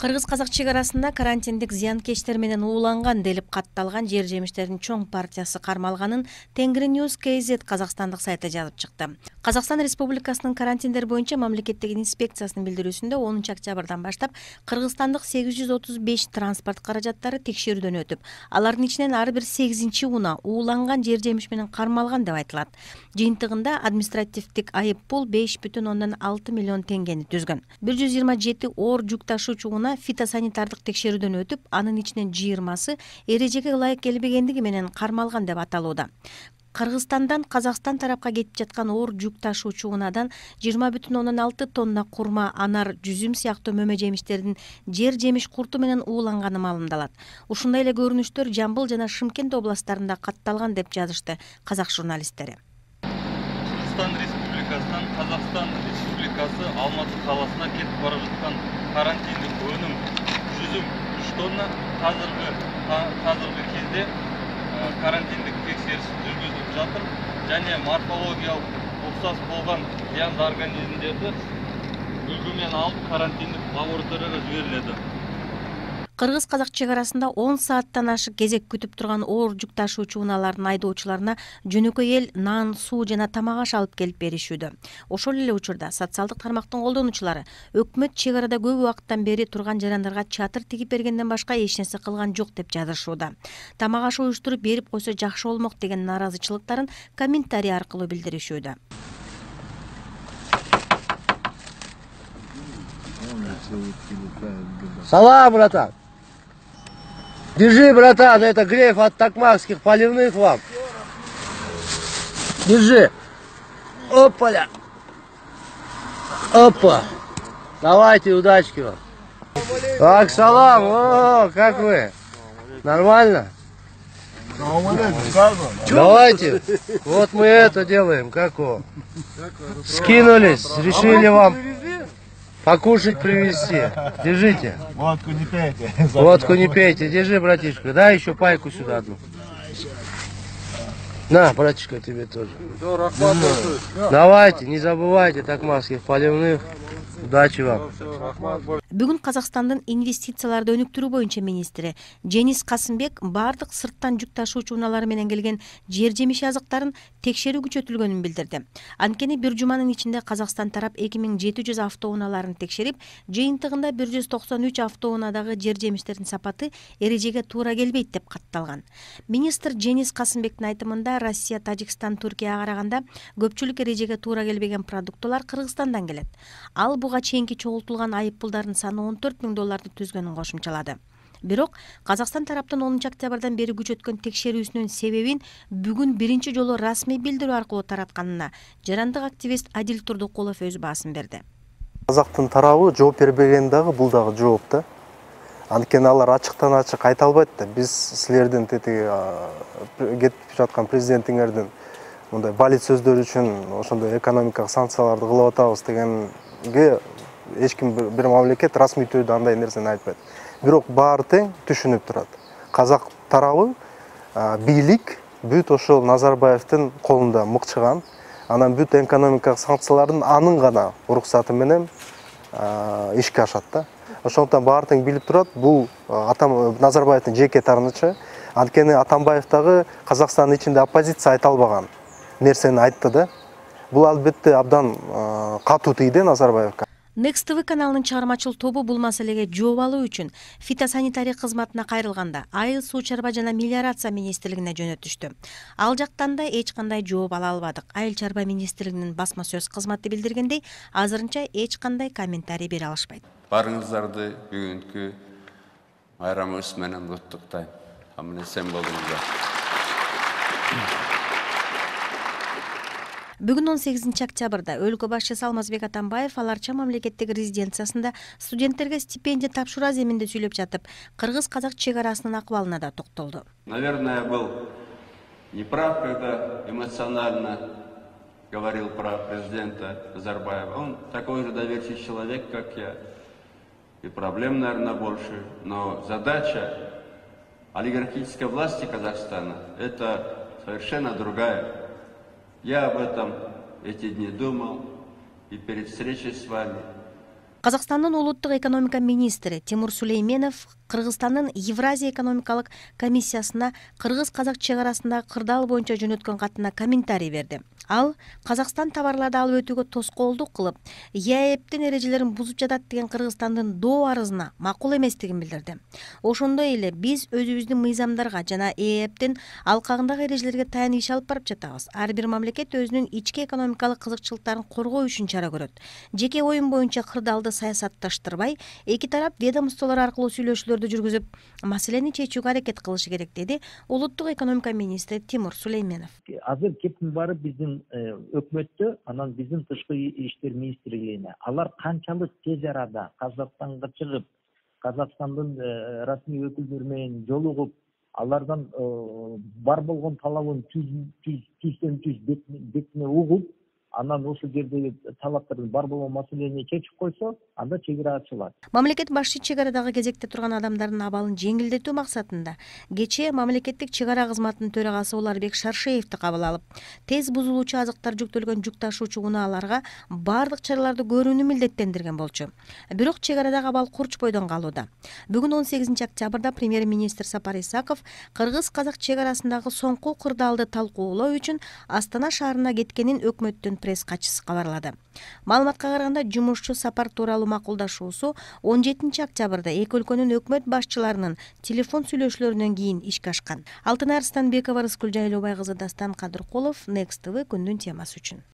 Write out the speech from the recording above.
Кыргыз-казак чек арасында карантиндик зыянкечтер менен ууланган делип катталган жер жемиштердин чоң партиясы кармалганын Тенгриньюз KZ казакстандык сайты жазып чыкты. Казакстан Республикасынын карантиндер боюнча мамлекеттик инспекциясынын билдирүүсүндө 10 октябрдан баштап кыргызстандык 835 транспорт каражаттары текшерүүдөн өтүп, алардын ичинен ар бир 8-чи уна ууланган жер жемиш менен кармалган деп айтылат. Жыйынтыгында административдик айып пул 5,6 миллион теңгени түзгөн. 127 оор жүк ташуучу уна фитосанитардык текшерүүдөн өтүп, анын ичинен 20сы эрежеге ылайык келбегендиги менен кармалган деп аталууда. Кыргызстандан Казакстан тарапка кетип жаткан оор жүк ташуучу унадан 20,6 тонна курма, анар, жүзүм сыяктуу мөмө жемиштердин жер жемиш курту менен ууланганы маалымдалат. Ушундай эле көрүнүштөр Жамбыл жана Шымкент областтарында катталган деп жазышты казак журналисттери. Кыргызстан Республикасынан Казакстан Республикасы Алматы каласына кетип бара жаткан карантиндик өнүм жүзүм 3 тонна азыркы кезде карантиндик текшериш жүргүзүлүп жатыр және морфологиялык окшош болгон зыяндуу организмдерди үлгү менен алып карантиндик лабораторияга жиберилет. Кыргыз-казак чек арасында 10 сааттан ашык кезек күтүп турган оор жүк ташуучу унаалардын айдоочуларына жөнөкөй эл нан, суу жана тамак аш алып келип беришүүдө. Ошол эле учурда социалдык тармактын колдонуучулары өкмөт чек арада көп убакыттан бери турган жарандарга чатыр тигип бергенден башка эч нерсе кылган жок деп жазышууда. Тамак аш уюштуруп берип койсо жакшы болмок деген нааразычылыктарын комментарий аркылуу билдиришүүдө. Салам, братан! Держи, братан, это грейф от токмакских поливных вам. Держи. Опаля. Опа. Давайте, удачки вам. Так, салам. О, как вы? Нормально? Давайте. Вот мы это делаем. Как вы? Скинулись. Решили вам покушать привезти. Держите. Водку не пейте. Водку не пейте. Держи, братишка. Дай еще пайку сюда одну. На, братишка, тебе тоже. Давайте, не забывайте токмакских поливных. Удачи вам. Бүгүн Казакстандын инвестицияларды өнүктүрүү боюнча министри Женис Касымбек бардык сырттан жүк ташуучу унаалары менен келген жер жемиш азыктарын текшерүү күчөтүлгөнүн билдирди. Анткени бир жуманын ичинде Казакстан тарап 2700 автоунааларын текшерип, жыйынтыгында 193 автоунадагы жер жемиштердин сапаты эрежеге туура келбейт деп катталган. Министр Женис Касымбектин айтымында Россия, Тажикстан, Түркияга караганда көпчүлүк эрежеге туура келбеген продуктылар Кыргызстандан келет. Ал буга чейинки чогултулган айып пулдардын саны $14 000 түзгөнүн кошумчалады. Бирок Казакстан тараптын 10 октябрдан бери күчөткөн текшерүүсүнүн себебин бүгүн биринчи жолу расмий билдирүү аркылуу таратканына жарандык активист Адил Турдукулов өз баасын берди. Казактын тарабы жооп бербеген дагы бул дагы жооп да. Анткени алар ачыктан ачык айта албайт да. Биз силердин кетип жаткан президентиңердин мындай балит сөздөр үчүн ошондой экономикалык санкцияларды кылып атабыз дегенге эч ким бир мамлекет расмий түрдө андай нерсени айтпайт. Бирок баары тең түшүнүп турат. Казак тарабы бийлик бүт ошол Назарбаевдин колунда мыкчыган, анан бүт экономикалык санкциялардын анын гана уруксаты менен ишке ашат да. Ошондуктан баары тең билип турат, бул Назарбаевдин жеке таарынычы. Анткени Атамбаев дагы Казакстандын ичинде оппозиция айта албаган нерсени айтты да. Бул албетте абдан катуу тийди Назарбаевга. Next TV каналынын чыгармачыл тобу бул маселеге жооп алуу үчүн фитосанитария кызматына кайрылганда Айыл суу чарба жана мелиорация министрлигине жөнөтүштү. Ал жактан да эч кандай жооп ала албадык. Айыл чарба министрлигинин басма сөз кызматы билдиргендей, азырынча эч кандай комментарий бере алышпайт. Барыңыздарды бүгүнкү байрамыбыз менен куттуктайм. Аман-эсен болуңуздар. Бүгүн 18 октябрда өлкө башчысы Алмазбек Атамбаев Аларча мамлекеттик резиденциясында студенттерге стипендия тапшыруу аземинде сүйлөп жатып, кыргыз-казак чек арасынын акыбалына да токтолду. Наверное, был неправ, когда эмоционально говорил про президента Назарбаева. Он такой же доверчивый человек, как я. И проблем, наверное, больше. Но задача олигархической власти Казахстана – это совершенно другая. Я об этом эти дни думал и перед встречей с вами. Казакстандын улуттук экономика министри Тимур Сулейменов Кыргызстандын Евразия экономикалык комиссиясына кыргыз-казак чек арасындагы кырдаал боюнча жөнөткөн катына комментарий берди. Ал Казакстан товарларды алып өтүүгө тоскоолдук кылып, ЕАЭПтин эрежелерин бузуп жатат деген Кыргызстандын доо арызына макул эместигин билдирди. Ошондой эле биз өзүбүздүн мыйзамдарга жана ЕАЭПтин алкагындагы эрежелерге таянып иш алып барып жатабыз. Ар бир мамлекет өзүнүн ички экономикалык кызыкчылыктарын коргоо үчүн чара көрөт. Жеке оюн боюнча кырдаалды саясатташтырбай, эки тарап ведомстволор аркылуу сүйлөшүүлөрдү жүргүзүп, маселени чечүүгө аракет кылышы керек, деди улуттук экономика министри Тимур Сулейменов. Азыр кептин баары биздин өкмөттө, анан биздин тышкы иштер министрлигине алар канчалык тез арада Казакстанга чыгып, Казакстандын расмий өкүлдөрү менен жолугуп, алардан бар болгон талабын түздөн түз бетине угуп, анан ошол жердеги талаптардын бар болгон маселени чечип койсо, анда чек ара ачылат. Мамлекет башчы чек арадагы кезекте турган адамдардын абалын жеңилдетүү максатында кечээ мамлекеттик чек ара кызматынын төрагасы Уларбек Шаршеевди кабыл алып, тез бузулуучу азыктар жүктөлгөн жүк ташуучу унааларга бардык чараларды көрүүнү милдеттендирген болчу. Бирок чек арадагы абал курч бойдон калууда. Бүгүн 18 октябрда премьер-министр Сапар Исаков кыргыз-казак чек арасындагы соңку кырдаалды талкуулоо үчүн Астана шаарына кеткенин өкмөттүн пресс катчысы кабарлады. Маалыматка караганда, жумушчу сапар тууралуу макулдашуусу 17 октябрда эки өлкөнүн өкмөт башчыларынын телефон сүйлөшүүлөрүнөн кийин ишке ашкан. Алтын Арстанбекова, Рыскүл Жайлообай кызы, Дастан Кадыркулов, Next TV күндүн темасы үчүн.